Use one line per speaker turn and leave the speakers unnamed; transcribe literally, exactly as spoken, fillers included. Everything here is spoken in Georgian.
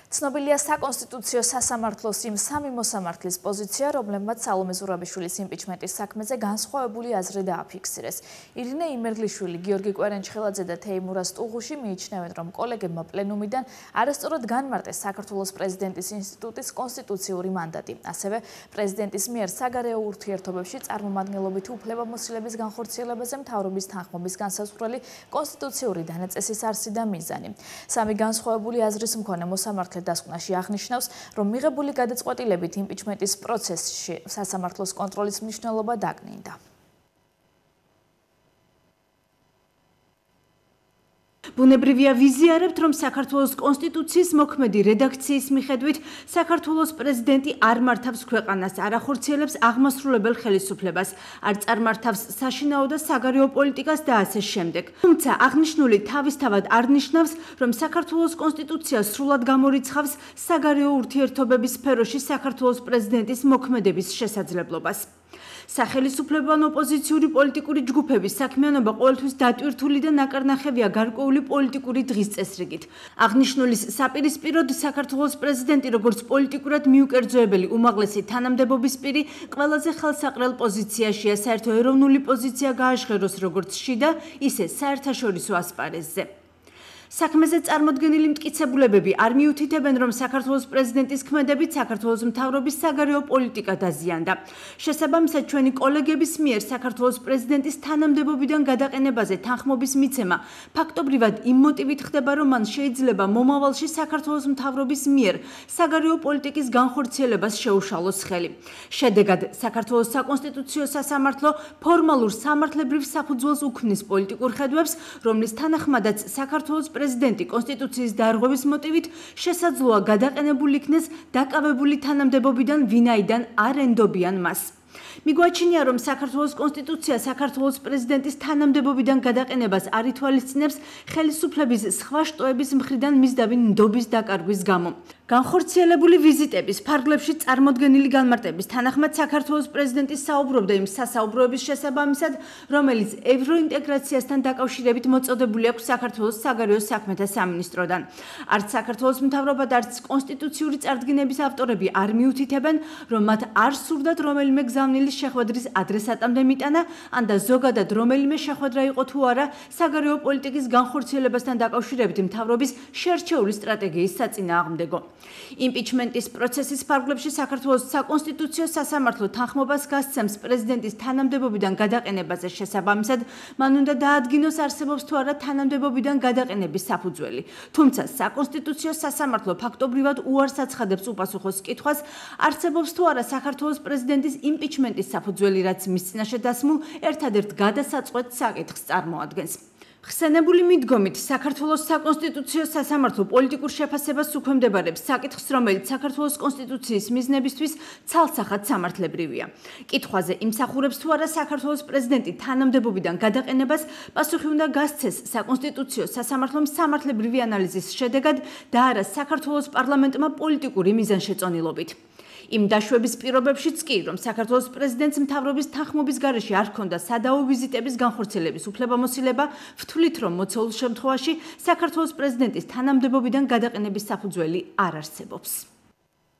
ცნობილია საკონსტიტუციო სასამართლოს იმ სამი მოსამართლის პოზიცია, რომლებმაც სალომე ზურაბიშვილის იმპიჩმენტის საქმეზე განსხვავებული აზრი დააფიქსირეს. ირინე იმერლიშვილი, გიორგი კვერენჩხელაძე და თეიმურა სტუღუში მიიჩნევენ, რომ კოლეგებმა პლენუმიდან არასწორად განმარტეს საქართველოს პრეზიდენტის ინსტიტუტის კონსტიტუციური მანდატი. ასევე პრეზიდენტის მიერ საგარეო ურთიერთობებში წარმომადგენლობითი უფლებამოსილების განხორციელებაზე მთავრობის თანხმობის განსაზღვრელი კონსტიტუციური დანაწესის არსი და მიზანი. სამი განსხვავებული აზრის მქონე მოსამართლე დასკვნაში აღნიშნავს, რომ მიღებული გადაწყვეტილებით იმპიჩმენტის პროცესში სასამართლოს კონტროლის მნიშვნელობა დაკნინდა.
ბუნებრივია ვიზიარებთ, რომ საქართველოს კონსტიტუციის მოქმედი რედაქციის მიხედვით საქართველოს პრეზიდენტი არ მართავს ქვეყანას, არ ახორციელებს აღმასრულებელ ხელისუფლებას, არ წარმართავს საშინაო და საგარეო პოლიტიკას და ასე შემდეგ. თუმცა აღნიშნული თავისთავად არ ნიშნავს, რომ საქართველოს კონსტიტუცია სრულად გამორიცხავს საგარეო ურთიერთობების სფეროში საქართველოს პრეზიდენტის მოქმედების შესაძლებლობას. სახელისუფლებოვან ოპოზიციური პოლიტიკური ჯგუფების საქმიანობა ყოველთვის დატვირთული და ნაკარნახევია გარკვეული პოლიტიკური დღის წესრიგით. აღნიშნულის საპირისპიროდ საქართველოს პრეზიდენტი როგორც პოლიტიკურად მიუკერძოებელი უმაღლესი თანამდებობის პირი ყველაზე ხელსაყრელ პოზიციაშია საერთო ეროვნული პოზიცია გააჟღეროს როგორც შიდა, ისე საერთაშორისო ასპარეზზე. საქმეზე წარმოდგენილი მტკიცებულებები არ მიუთითებენ, რომ საქართველოს პრეზიდენტის ქმედებით საქართველოს მთავრობის საგარეო პოლიტიკა დაზიანდა. შესაბამისად, ჩვენი კოლეგების მიერ საქართველოს პრეზიდენტის თანამდებობიდან გადაყენებაზე თანხმობის მიცემა ფაქტობრივად იმ მოტივით ხდება, რომ მან შეიძლება მომავალში საქართველოს მთავრობის მიერ საგარეო პოლიტიკის განხორციელებას შეუშალოს ხელი. შედეგად, საქართველოს საკონსტიტუციო სასამართლო ფორმალურ სამართლებრივ საფუძველს უქმნის პოლიტიკურ ხედვებს, რომლის თანახმადაც საქართველოს პრეზიდენტი კონსტიტუციის დარღვევის მოტივით შესაძლოა გადაყენებული იქნეს დაკავებული თანამდებობიდან, ვინაიდან არ ენდობიან მას. მიგვაჩნია, რომ საქართველოს კონსტიტუცია საქართველოს პრეზიდენტის თანამდებობიდან გადაყენებას არ ითვალისწინებს ხელისუფლების სხვა შტოების მხრიდან მისდევი ნდობის დაკარგვის გამო. განხორციელებული ვიზიტების ფარგლებში წარმოდგენილი განმარტების თანახმად საქართველოს პრეზიდენტი საუბრობდა იმ სასაუბროების შესაბამისად, რომელიც ევროინტეგრაციასთან დაკავშირებით მოწოდებული აქვს საქართველოს საგარეო საქმეთა სამინისტროდან. არც საქართველოს მთავრობა და არც კონსტიტუციური წარდგინების ავტორები არ მიუთითებენ, რომ მათ არ სურდათ რომელიმე გზავნილის შეხვედრის ადრესატამდე მიტანა, ან და ზოგადად რომელიმე შეხვედრა იყო თუ არა საგარეო პოლიტიკის განხორციელებასთან დაკავშირებით მთავრობის შერჩეული სტრატეგიის საწინააღმდეგო. იმპიჩმენტის პროცესის ფარგლებში საქართველოს საკონსტიტუციო სასამართლო თანხმობას გასცემს პრეზიდენტის თანამდებობიდან გადაყენებაზე შესაბამისად, მან უნდა დაადგინოს არსებობს თუ არა თანამდებობიდან გადაყენების საფუძველი. თუმცა საკონსტიტუციო სასამართლო ფაქტობრივად უარს აცხადებს უპასუხოს კითხვას, არსებობს თუ არა საქართველოს პრეზიდენტის იმპიჩმენტის საფუძველი, რაც მის წინაშე დასმულ ერთადერთ გადასაწყვეტ საკითხს წარმოადგენს. ხსენებული მიდგომით, საქართველოს საკონსტიტუციო სასამართლო პოლიტიკურ შეფასებას უქვემდებარებს საკითხს, რომელიც საქართველოს კონსტიტუციის მიზნებისთვის ცალსახად სამართლებრივია. კითხვაზე იმსახურებს თუ არა საქართველოს პრეზიდენტი თანამდებობიდან გადაყენებას, პასუხი უნდა გასცეს საკონსტიტუციო სასამართლომ სამართლებრივი ანალიზის შედეგად და არა საქართველოს პარლამენტმა პოლიტიკური მიზანშეწონილობით. იმ დაშვების პირობებშიც კი, რომ საქართველოს პრეზიდენტს მთავრობის თანხმობის გარეშე არ ჰქონდა სადავო ვიზიტების განხორციელების უფლებამოსილება, ვთვლით, რომ მოცეულ შემთხვევაში საქართველოს პრეზიდენტის თანამდებობიდან გადაყენების საფუძველი არ არსებობს.